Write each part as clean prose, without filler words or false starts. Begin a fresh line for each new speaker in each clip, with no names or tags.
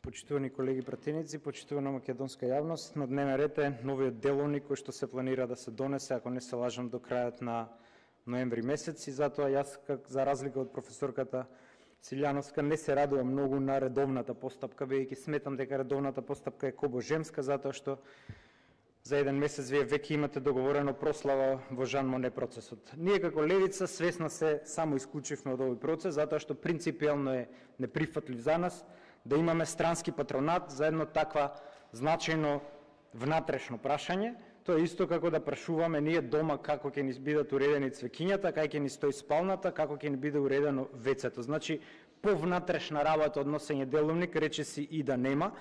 Почитувани колеги пратеници, почитувана македонска јавност, на дневен ред е новиот деловник кој што се планира да се донесе, ако не се лажам, до крајот на ноември месец, и затоа јас, за разлика од професорката Цилјановска, не се радувам многу на редовната постапка, бидејќи сметам дека редовната постапка е кобожемска, затоа што за еден месец вие веќе имате договорено прослава во Жан Моне процесот. Ние како левица свесно се само исклучивме од овој процес, затоа што принципиелно е неприфатлив за нас да имаме странски патронат за едно таква значајно внатрешно прашање. Тоа е исто како да прашуваме ние дома како ќе ни бидат уредени цвеќињата, како ќе ни стои спалната, како ќе ни биде уредено вецето. Значи, повнатрешна работа од носење деловник речиси и да нема,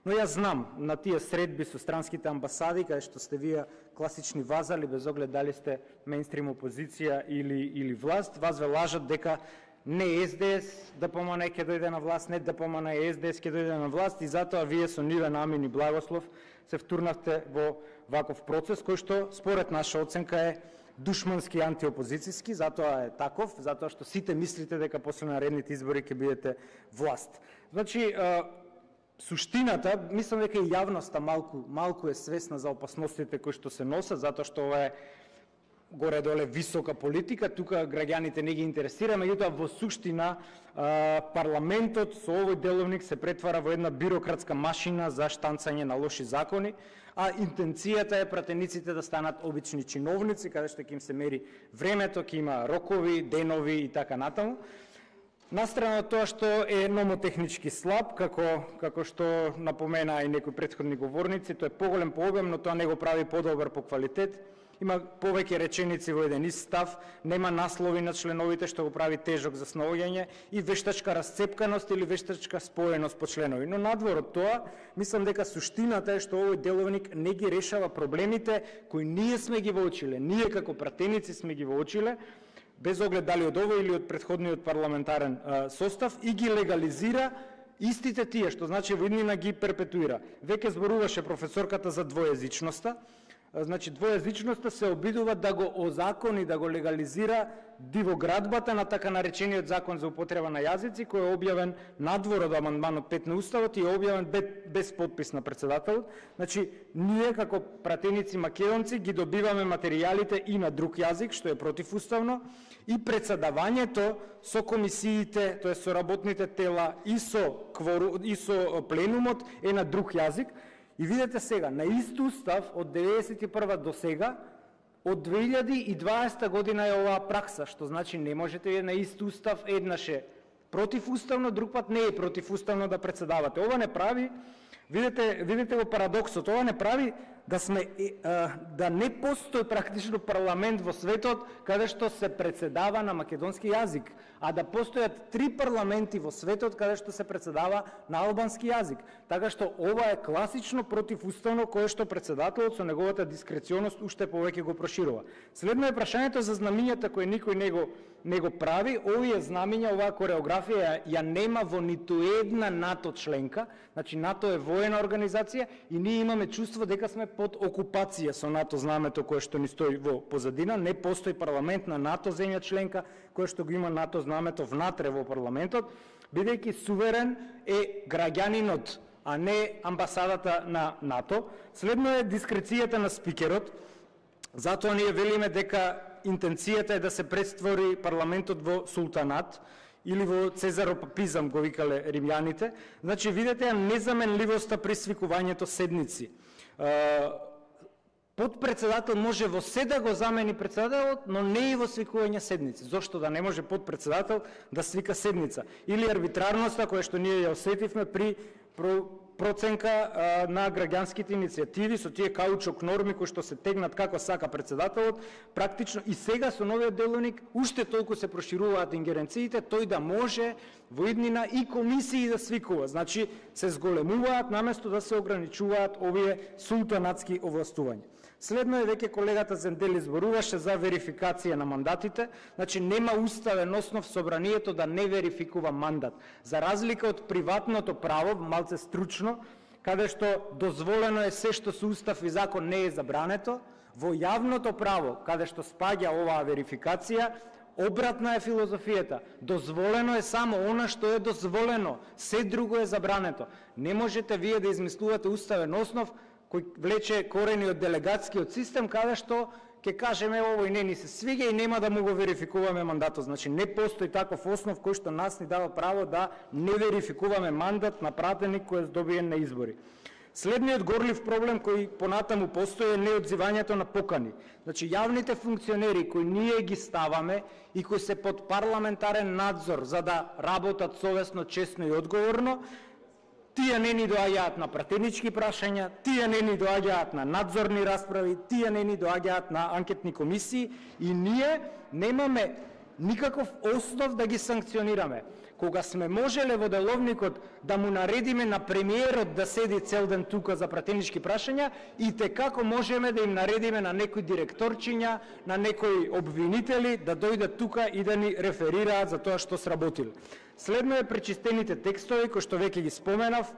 но јас знам на тие средби со странските амбасади, каде што сте вие класични вазали, без оглед дали сте мејнстрим опозиција или власт, вас ве лажат дека не СДС ДПМН ќе дојде на власт, не ДПМН и СДС ќе дојде на власт, и затоа вие со нивен амин и благослов се втурнавте во ваков процес, кој што според наша оценка е душмански антиопозицијски, затоа е таков, затоа што сите мислите дека после наредните избори ќе бидете власт. Значи, суштината, мислам дека и јавноста малку е свесна за опасностите кои што се носат, затоа што ова е горе-доле висока политика, тука граѓаните не ги интересира, меѓутоа во суштина парламентот со овој деловник се претвара во една бирократска машина за штанцање на лоши закони, а интенцијата е пратениците да станат обични чиновници, каде што ќе им се мери времето, ќе има рокови, денови и така натаму. Настрана од тоа што е номотехнички слаб, како што напомена и некои претходни говорници, тоа е поголем по обем, но тоа не го прави подобар по квалитет. Има повеќе реченици во еден ист став, нема наслови на членовите што го прави тежок за снаоѓање и вештачка расцепканост или вештачка споеност по членови. Но надвор од тоа, мислам дека суштината е што овој деловник не ги решава проблемите кои ние сме ги воочиле, ние како пратеници сме ги воочиле, без оглед дали од овој или од претходниот парламентарен состав, и ги легализира истите тие, што значи во иднина ги перпетуира. Веќе зборуваше професорката за двојазичноста. Значи, двојазичноста се обидува да го озакони, да го легализира дивоградбата на така наречениот закон за употреба на јазици, кој е објавен надвор од амандманот 5 на Уставот и е објавен без подпис на председателот. Значи, ние како пратеници македонци ги добиваме материјалите и на друг јазик, што е противуставно, и председавањето со комисиите, тоа со работните тела и со пленумот е на друг јазик. И видете сега, на ист устав од 1991 до сега, од 2020 година е оваа пракса, што значи не можете на ист устав еднаш е противуставно, друг пат не е противуставно да председавате. Ова не прави, видите го парадоксот, ова не прави да не постои практично парламент во светот каде што се председава на македонски јазик, а да постојат 3 парламенти во светот каде што се председава на албански јазик. Така што ова е класично противуставно, кое што председателот со неговата дискреционост уште повеќе го проширува. Следно е прашањето за знамињата кои никој не го прави. Овие знамиња, оваа кореографија ја нема во ниту една НАТО членка. Значи НАТО е воена организација и ние имаме чувство дека сме под окупација со НАТО знамето кое што ни стои во позадина. Не постои парламент на НАТО земја членка кое што го има НАТО знамето внатре во парламентот, бидејќи суверен е граѓанинот, а не амбасадата на НАТО. Следно е дискрецијата на спикерот. Затоа ние велиме дека интенцијата е да се претвори парламентот во султанат или во цезаропапизам, го викале римјаните. Значи, видите незаменливоста при свикувањето седници. Подпредседател може во се да го замени председателот, но не и во свикување седници. Зошто да не може подпредседател да свика седница? Или арбитрарноста која што ние ја осетивме при проценка на граѓанските иницијативи со тие каучок норми кои што се тегнат како сака председателот, практично и сега со новиот деловник уште толку се прошируваат ингеренциите, тој да може во иднина и комисии да свикува. Значи се зголемуваат наместо да се ограничуваат овие султанатски овластувања. Следно е веќе колегата Зендели зборуваше за верификација на мандатите. Значи нема уставен основ собранието да не верификува мандат. За разлика од приватното право, малце стручно, каде што дозволено е се што со устав и закон не е забрането, во јавното право, каде што спаѓа оваа верификација, Обратна е филозофијата. Дозволено е само она што е дозволено, се друго е забрането. Не можете вие да измислувате уставен основ кој влече корени од делегатскиот систем, каде што ќе кажеме овој не ни се свиѓа и нема да му го верификуваме мандатот. Значи не постои таков основ кој што нас ни дава право да не верификуваме мандат на пратеник кој е добиен на избори. Следниот горлив проблем кој понатаму постои е неодзивањето на покани. Значи јавните функционери кои ние ги ставаме и кои се под парламентарен надзор за да работат совесно, честно и одговорно, тие не ни доаѓаат на пратенички прашања, тие не ни доаѓаат на надзорни расправи, тие не ни доаѓаат на анкетни комисии и ние немаме никаков основ да ги санкционираме. Кога сме можеле во деловникот да му наредиме на премиерот да седи цел ден тука за пратенички прашања, и те како можеме да им наредиме на некои директорчиња, на некои обвинители да дојдат тука и да ни реферираат за тоа што сработиле. Следно е пречистените текстови, кои што веќе ги споменав.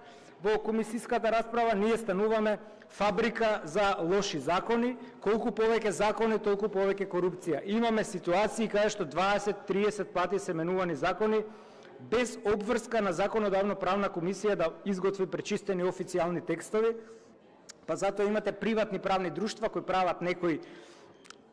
Во комисиската расправа ние стануваме фабрика за лоши закони. Колку повеќе закони, толку повеќе корупција. Имаме ситуации каде што 20-30 пати се менувани закони без обврска на законодавно-правна комисија да изготви пречистени официјални текстови, па затоа имате приватни правни друштва кои прават некои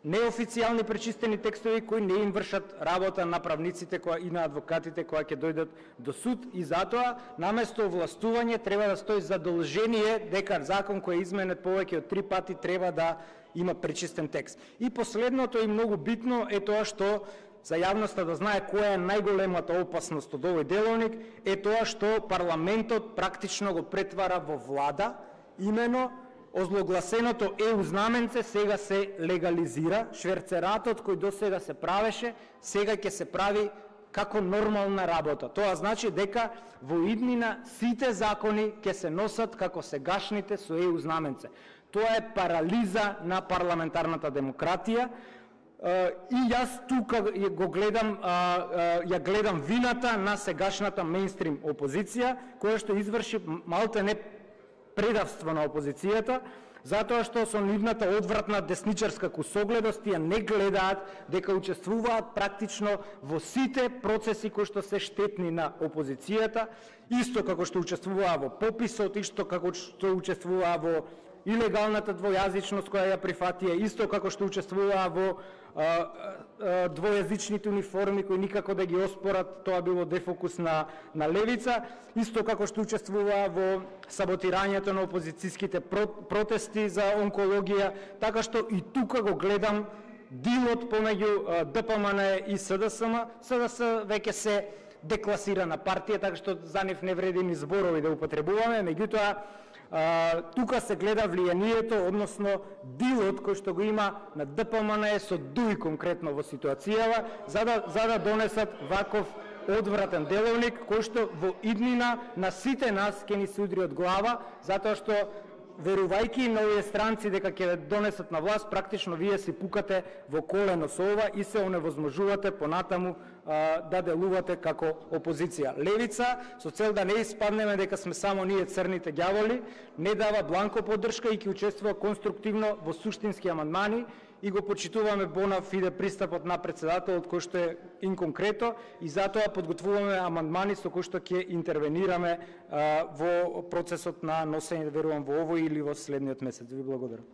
неофицијални пречистени текстови кои не им вршат работа на правниците и на адвокатите кои ќе дојдат до суд, и затоа наместо овластување треба да стои задолжение дека закон кој е изменет повеќе од 3 пати треба да има пречистен текст. И последното и многу битно е тоа што за јавноста да знае која е најголемата опасност од овој деловник, е тоа што парламентот практично го претвара во влада, имено озлогласеното ЕУ знаменце сега се легализира, шверцератот кој до сега се правеше, сега ќе се прави како нормална работа. Тоа значи дека во иднина сите закони ќе се носат како сегашните со ЕУ знаменце. Тоа е парализа на парламентарната демократија. И јас тука го гледам, ја гледам вината на сегашната мејнстрим опозиција, која што изврши малте не предавство на опозицијата, затоа што со нивната одвратна десничарска кусогледост тие не гледаат дека учествуваат практично во сите процеси кои што се штетни на опозицијата, исто како што учествуваа во пописот, исто како што учествуваа во илегалната двојазичност која ја прифатија, исто како што учествуваа во двојазичните униформи кои никако да ги оспорат, тоа било дефокус на левица, исто како што учествуваа во саботирањето на опозицијските протести за онкологија, така што и тука го гледам дилот помеѓу ДПМН и СДСМ. СДС веќе се декласирана партија, така што за нив не вреди ни зборови да употребуваме, меѓутоа тука се гледа влијанието, односно дилот кој што го има на ДПМН со ДУИ конкретно во ситуацијава, за да донесат ваков одвратен деловник кој што во иднина на сите нас ќе ни се удри од глава, затоа што верувајќи на овие странци дека ќе донесат на власт, практично вие си пукате во колено со ова и се оневозможувате понатаму да делувате како опозиција. Левица, со цел да не испаднеме дека сме само ние црните ѓаволи, не дава бланко поддршка и ќе учествува конструктивно во суштински амандмани и го почитуваме бона фиде пристапот на председателот кој што е инконкрето, и затоа подготвуваме амандмани со кои што ќе интервенираме во процесот на носење, верувам, во овој или во следниот месец. Ви благодарам.